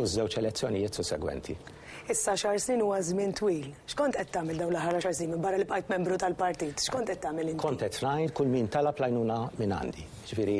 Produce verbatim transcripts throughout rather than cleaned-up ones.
u ż-żewġ elezzjonijiet sussegwenti. Issa għaxar snin huwa żmien twil. X'kont qed tagħmel dawn l-aħħar għaxar snin barra li bqajt membru tal-partit? X'kont qed tagħmel inti? Kont qed ngħin kull min talab l-għajnuna minn għandi. Ġifieri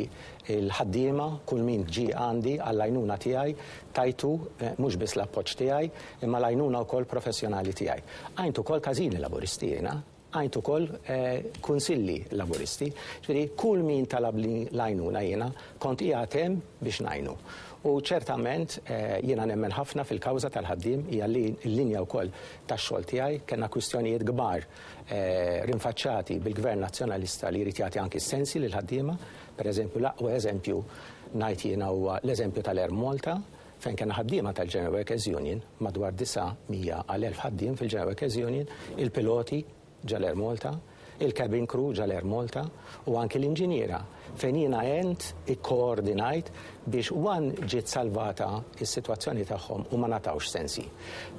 il-ħaddiema, kull min ġie għandi għall-għajnuna tiegħi, tajtu eh, mhux biss l-appoġġ tiegħi, imma l-għajnuna wkoll professjonali tiegħi. Għajnt ukoll każini Laburisti jiena, għajnt ukoll eh, kunsilli Laburisti. Ġifieri kull min talab li l-għajnuna jiena kont qiegħed hemm biex ngħinu. U ċertament eh, jiena nemmen ħafna fil-kawża tal-ħaddiem, hija li l-linja wkoll tax-xogħol tiegħi. Kellna kwistjonijiet kbar eh, rinfaċċati bil-Gvern Nazzjonalista li jrid jagħti anki s-sensji lil ħaddiema. Pereżempju, l-aqwa eżempju ngħid jiena huwa l-eżempju tal-Air Malta, fejn kien ħaddiema tal-General Workers Union, madwar disa' mija għal elf ħaddiem fil-General Workers Union, il-piloti ġol-Air Malta, il-cabin crew ġol-Air Malta u anki l-inġiniera, fejn jiena għent ikkoordinajt biex one ġiet salvata is-sitwazzjoni tagħhom u ma ngħatawx sensji.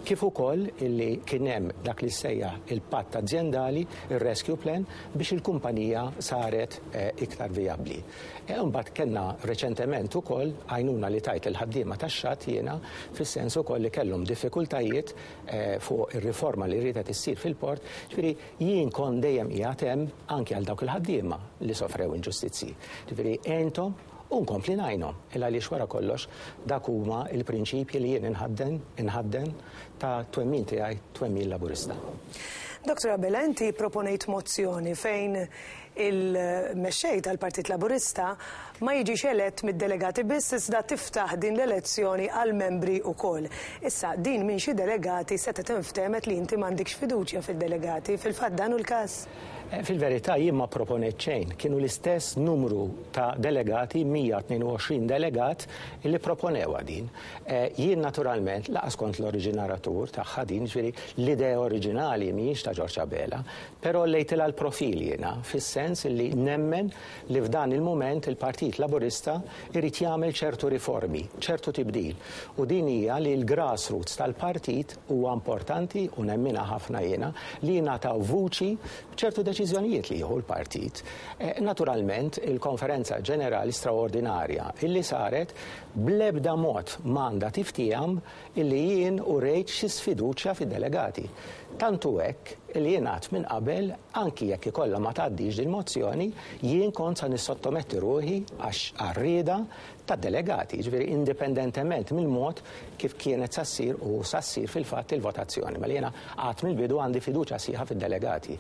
Kif ukoll illi kien hemm dak li sejjaħ il-patt aziendali, il-rescue plan, biex il-kumpanija saret eh, iktar vijabbli. E mbagħad kellna reċentement ukoll għajnuna li tajt il-ħaddiema tax-xatt jiena, fis-sens ukoll li kellhom diffikultajiet eh, fuq ir-riforma li riedet issir fil-port, ġifieri jien kont dejjem qiegħed hemm anke għal dawk il-ħaddiema li sofrew inġustizzji. Ġifieri għenthom u nkompli ngħinhom, il għaliex wara kollox dak huma il-prinċipji li jien inħadden inħadden ta' twemmin tiegħi, twemmin Laburista. Doktor Abela, inti proponejt mozzjoni fejn il-mexxej tal-Partit Laburista ma jiġix elett mid-delegati biss, iżda tiftaħ din l-elezzjoni għal membri wkoll. Issa din minn xi delegati setgħet inftehmet li inti m'għandikx fiduċja fid-delegati. Fil-fatt dan hu l-każ? Eh, Fil-verità jien ma proponejt xejn, kienu l-istess numru ta' delegati, mija u tnejn u għoxrin delegat, li proponewa din. Eh, Jien naturalment lanqas kont l-oriġinaratur tagħha din, ġifieri l-idea oriġinali mhijiex ta' George Abela, però għollejtilha l-profil jiena, fis-sens li nemmen li f'dan il-moment il-Partit Laburista irid jagħmel ċertu riformi, ċertu tibdil. U din hija li l-grassroots tal-partit huwa importanti u nemmina ħafna jiena li jingħataw vuċi ċertu deċiżjonijiet li jieħu l-partit. Eh, Naturalment, il-konferenza ġenerali straordinarja illi saret blebda mod m'għandha tiftiehem illi jien urejt xi sfiduċja fid-delegati. Tantu hekk illi jien għedt minn qabel, anki jekk ikollha ma tgħaddix din mozzjoni, jien kont sa nissottometti ruħi għax għar-rieda tad-delegati, ġifieri indipendentement mill-mod kif kienet sa ssir u sa ssir fil-fatt il-votazzjoni. Mela jiena għedt mill-bidu għandi fiduċja sħiħa fid-delegati.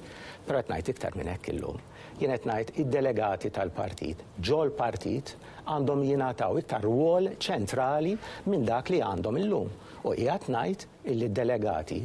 Però qed ngħid iktar minn hekk illum. Jien qed ngħid id-delegati tal-partit, ġol partit, għandhom jingħataw iktar rwol ċentrali minn dak li għandhom illum. U qiegħed ngħid illi d-delegati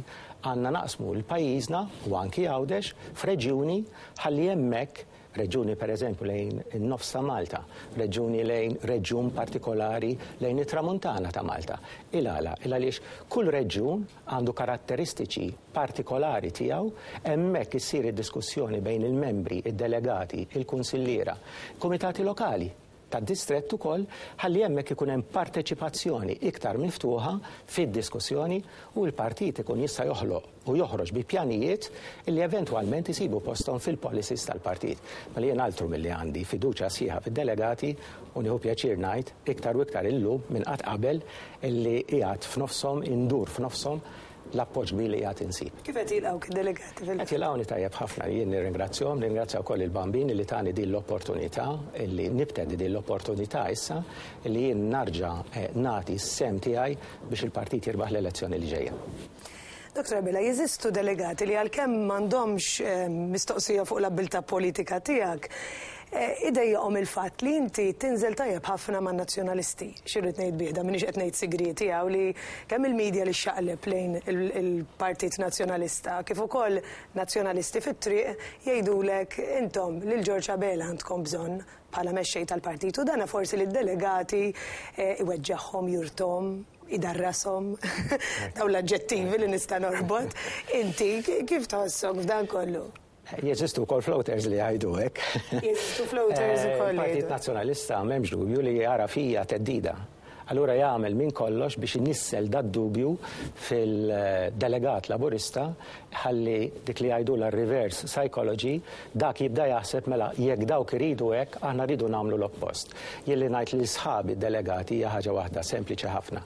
għandna naqsmu l-pajjiżna u anki Għawdex f'reġjuni, ħalli hemmhekk reġjuni, per eżempju, lejn in-nofs ta' Malta, reġjuni lejn reġjun partikolari lejn it-tramuntana ta' Malta. Il-għala, il-għaliex kull reġjun għandu karatteristiċi partikolari tiegħu, hemmhekk issir id-diskussjoni bejn il-membri, id-delegati, il-kunsilliera, komitati lokali ta' distrett ukoll, ħalli hemmhekk ikun hemm parteċipazzjoni iktar miftuħa fid-diskussjoni u l-partit ikun jista' joħloq u joħroġ bi pjanijiet illi eventwalment isibu posthom fil-policies tal-partit. Mela jien altru milli għandi fiduċja sħiħa fid-delegati u nieħu pjaċir ngħid iktar u iktar illum minn qatt qabel illi qiegħed f'nofshom, indur f'nofshom, l-appoġġ kbir li qiegħed insib. Kif qed jilqgħuk id-delegati fil Qed jilqgħuni tajjeb ħafna, jien nirringrazzjahom, nirringrazzja wkoll il-Bambin li tani din l-opportunità, illi nibtedi din l-opportunità issa li jien narġa' eh, nagħti s-sehem tiegħi biex il-partit jirbaħ l-elezzjoni li ġejja. Doktor Abela, jeżistu delegati li għalkemm m'għandhomx eh, mistoqsija fuq l-abbiltà politika tiegħek, eh, idejjaqhom il-fatt li inti tinżel tajjeb ħafna man nazzjonalisti. X'irrid ngħid bih da, m'iniex qed ngħid sigrieti hawn, li kemm il-medja li xaqleb lejn il- il-Partit Nazzjonalista, kif ukoll nazzjonalisti fit-triq jgħidulek intom lil George Abela għandkom bżonn bħala mexxej tal-partit, u dana forsi li d-delegati eh, iweġġaħħom, jurtom, idarrashom, dawn l-aġġettivi li nista' norbot. Inti kif tħossok f'dan kollu? Jeżistu wkoll floaters li jgħidu hekk. Jeżistu floaters Eh, ukoll li Il-Partit jgħidu. Nazzjonalista m'hemmx dubju li jara fija theddida. Allura jagħmel minn kollox biex inissel dat dubju fil-delegat Laburista, ħalli dik li jgħidu la reverse psychology, dak jibda jaħseb, mela jekk dawk iridu hekk, aħna rridu nagħmlu l-oppost. Jien li ngħid li sħabi delegati hija ħaġa waħda sempliċi ħafna.